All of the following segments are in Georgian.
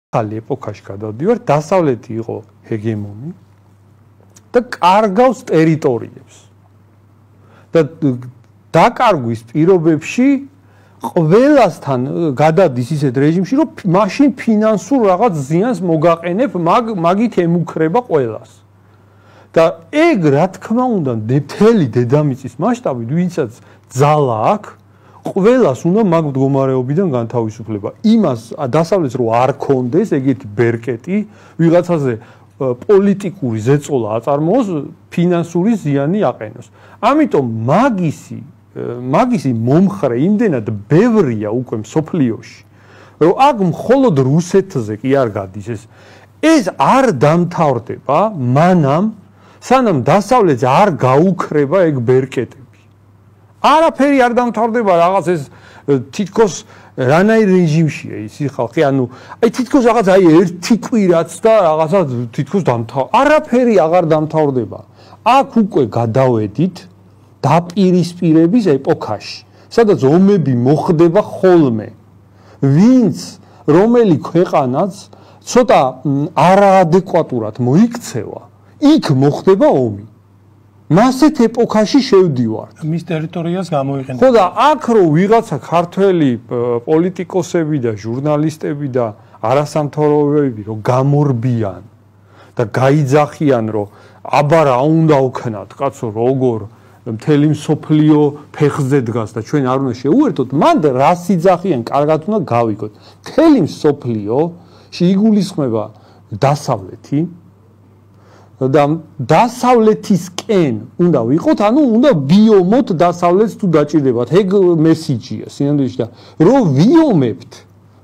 ახალი ეპოქაში გადავდივარ, დასავლეთი იყო ჰეგემონი და კარგავს ტერიტორიებს. და დაკარგვის პირობებში ყველასთან გადადის ისეთ რეჟიმში, რომ მაშინ ფინანსურ რაღაც ზიანს მოგაყენებ, მაგით ემუქრება ყველას. და ეგ რა თქმა უნდა, მთელი დედამიწის მასშტაბით, ვინცაც ძალა აქვს, ყველას უნდა მაგ მდგომარეობიდან განთავისუფლება. იმას დასავლეთს რო არ კონდეს ეგეთი ბერკეტი, ვიღაცაზე პოლიტიკური ზეწოლა აწარმოოს, ფინანსური ზიანი აყენოს. ამიტომ მაგისი მომხრე იმდენად ბევრია უკვე მსოფლიოში, რომ აქ მხოლოდ რუსეთზე კი არ გადის ეს არ დამთავრდება, სანამ დასავლეთს არ გაუქრება ეგ ბერკეტები. არაფერი არ დამთავრდება, რაღაც ეს თითქოს რანაირ რეჟიმშია ისი ხალხი, თითქოს რაღაც ერთი კვირაც და რაღაცა თითქოს არაფერი აღარ დამთავრდება. აქ უკვე გადავედით დაპირისპირების ეპოქაში, სადაც ომები მოხდება ხოლმე. რომელი ქვეყანაც ცოტა არაადეკვატურად მოიქცევა, იქ მოხდება ომი. მასეთ ეპოქაში შევდივართ. მის ტერიტორიას გამოიყენება. ხო და აქ რო ვიღაცა ქართველი პოლიტიკოსები და ჟურნალისტები და არასამთავრობოები რო გამორბიან და გაიძახიან, რომ აბა რა უნდა ვქნათ, კაცო, როგორ მთელი მსოფლიო ფეხზე დგას და ჩვენ არ უნდა შეუერთოთ, მან რას იძახიან, კარგად უნდა გავიგოთ. მთელი მსოფლიოში იგულისხმება დასავლეთი და დასავლეთისკენ უნდა ვიყოთ, უნდა ვიომოთ დასავლეთს თუ დაჭირდებათ. ეგ მესიჯია სინამდვილეში და რომ ვიომებთ,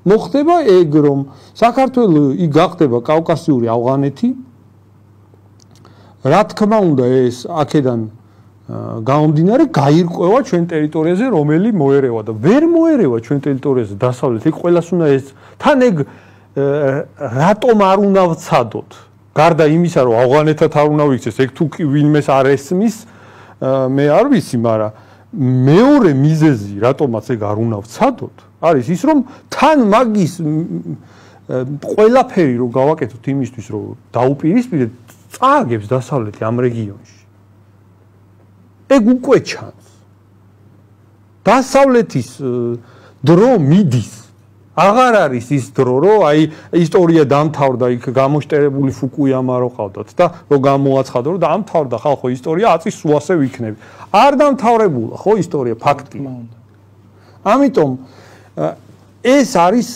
მოხდება ეგ, რომ საქართველო გახდება კავკასიური ავღანეთი. რა თქმა უნდა, ეს აქედან გამომდინარე გაირკვევა ჩვენ ტერიტორიაზე, რომელი მოერევა და ვერ მოერევა ჩვენ ტერიტორიაზე დასავლეთი, ყველას უნდა ეს თან ეგ რატომ არ უნდა ვცადოთ? გარდა იმისა, რომ ავღანეთად არ უნდა ვიქცეს, ეგ თუ ვინმეს არ ესმის, მე არ ვიცი, მაგრამ მეორე მიზეზი, რატომაც ეგ არ უნდა ვცადოთ, არის ის, რომ თან მაგის ყველაფერი რომ გავაკეთოთ იმისთვის, რომ დაუპირისპირდეთ, წააგებს დასავლეთი ამ რეგიონში. ეგ უკვე ჩანს. დასავლეთის დრო მიდის. აღარ არის ის დრო, რომ ისტორია დამთავრდა, იქ გამოშტერებული ფუკუიამა რო ყავდათ და რომ გამოაცხადა, რომ დამთავრდა ხალხო ისტორია, აწის სულ ასე ვიქნები. არ დამთავრებულა, ხო ისტორია, ფაქტია. ამიტომ ეს არის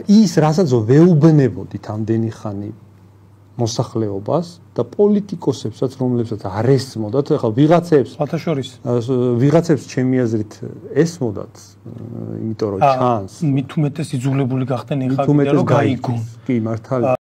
ის, რასაც ვეუბნებოდით ამდენი ხანი მოსახლეობას და პოლიტიკოსებსაც, რომლებსაც არ ესმოდათ, ახლა ვიღაცებს ჩემი აზრით ესმოდათ, იმიტომ რომ ჩანს. მით უმეტეს იძულებული გახდნენ ეხლა რომ გაიგონ. კი, მართალია.